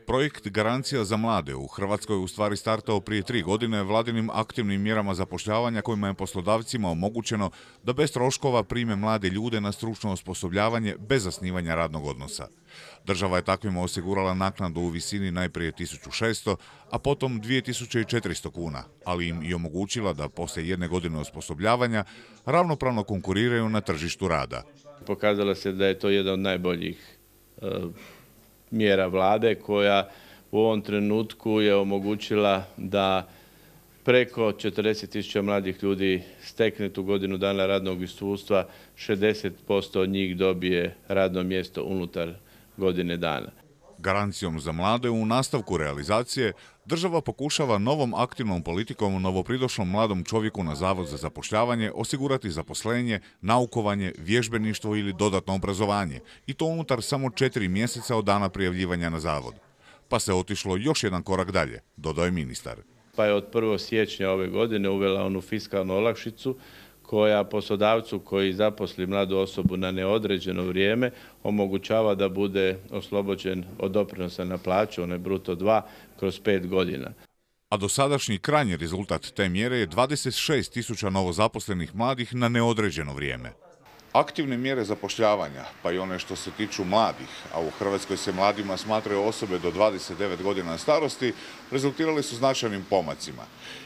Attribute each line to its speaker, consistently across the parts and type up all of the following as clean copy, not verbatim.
Speaker 1: Projekt Garancija za mlade u Hrvatskoj je u stvari startao prije 3 godine vladinim aktivnim mjerama zapošljavanja kojima je poslodavcima omogućeno da bez troškova prime mlade ljude na stručno osposobljavanje bez zasnivanja radnog odnosa. Država je takvima osigurala naknadu u visini najprije 1600, a potom 2400 kuna, ali im i omogućila da poslije 1 godine osposobljavanja ravnopravno konkuriraju na tržištu rada.
Speaker 2: Pokazalo se da je to jedna od najboljih mjera vlade koja u ovom trenutku je omogućila da preko 40.000 mladih ljudi stekne tu godinu dana radnog iskustva, 60% od njih dobije radno mjesto unutar godine dana.
Speaker 1: Garancijom za mlade u nastavku realizacije država pokušava novom aktivnom politikom novopridošlom mladom čovjeku na Zavod za zapošljavanje osigurati zaposlenje, naukovanje, vježbeništvo ili dodatno obrazovanje i to unutar samo 4 mjeseca od dana prijavljivanja na zavod. Pa se otišlo još jedan korak dalje, dodao je ministar.
Speaker 2: Pa je od 1. siječnja ove godine uvela onu fiskalnu olakšicu koja poslodavcu koji zaposli mladu osobu na neodređeno vrijeme omogućava da bude oslobođen od doprinosa na plaću, onaj bruto 2, kroz 5 godina.
Speaker 1: A dosadašnji krajnji rezultat te mjere je 26.000 novozaposlenih mladih na neodređeno vrijeme. Aktivne mjere zapošljavanja, pa i one što se tiču mladih, a u Hrvatskoj se mladima smatraju osobe do 29 godina starosti, rezultirali su značajnim pomacima.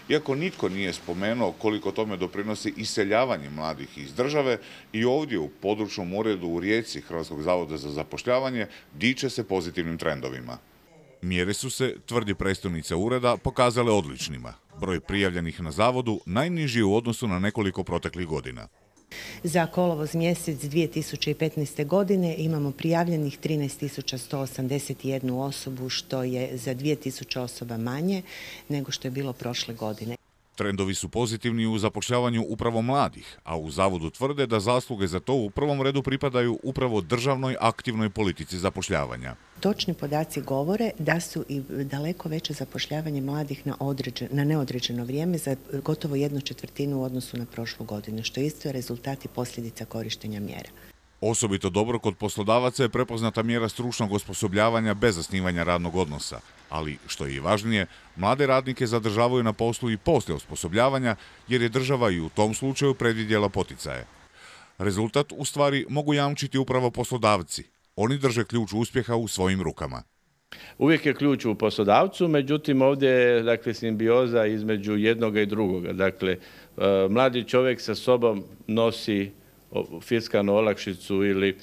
Speaker 1: Iako nitko nije spomenuo koliko tome doprinosi iseljavanje mladih iz države, i ovdje u područnom uredu u Rijeci Hrvatskog zavoda za zapošljavanje diče se pozitivnim trendovima. Mjere su se, tvrdi predstojnica ureda, pokazale odličnima. Broj prijavljenih na zavodu najniži u odnosu na nekoliko proteklih godina.
Speaker 3: Za kolovoz mjesec 2015. godine imamo prijavljenih 13.181 osobu, što je za 2.000 osoba manje nego što je bilo prošle godine.
Speaker 1: Trendovi su pozitivni u zapošljavanju upravo mladih, a u zavodu tvrde da zasluge za to u prvom redu pripadaju upravo državnoj aktivnoj politici zapošljavanja.
Speaker 3: Točni podaci govore da su i daleko veće zapošljavanje mladih na neodređeno vrijeme za gotovo 1/4 u odnosu na prošlu godinu, što isto je rezultat i posljedica korištenja mjera.
Speaker 1: Osobito dobro kod poslodavaca je prepoznata mjera stručnog osposobljavanja bez zasnivanja radnog odnosa, ali što je i važnije, mlade radnike zadržavaju na poslu i poslije osposobljavanja jer je država i u tom slučaju predvidjela poticaje. Rezultat u stvari mogu jamčiti upravo poslodavci. Oni drže ključ uspjeha u svojim rukama.
Speaker 2: Uvijek je ključ u poslodavcu, međutim ovdje je simbioza između jednoga i drugoga. Dakle, mladi čovjek sa sobom nosi fiskalnu olakšicu ili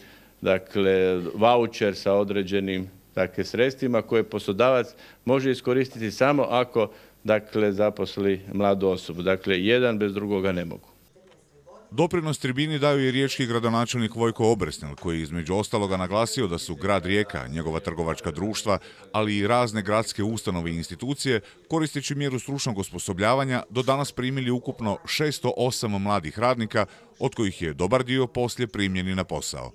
Speaker 2: vaučer sa određenim sredstvima koje poslodavac može iskoristiti samo ako zaposli mladu osobu. Dakle, jedan bez drugoga ne mogu.
Speaker 1: Doprinos tribini daju i riječki gradonačelnik Vojko Obresnel, koji je između ostaloga naglasio da su grad Rijeka, njegova trgovačka društva, ali i razne gradske ustanove i institucije, koristeći mjeru stručnog osposobljavanja, do danas primili ukupno 608 mladih radnika, od kojih je dobar dio poslije primljeni na posao.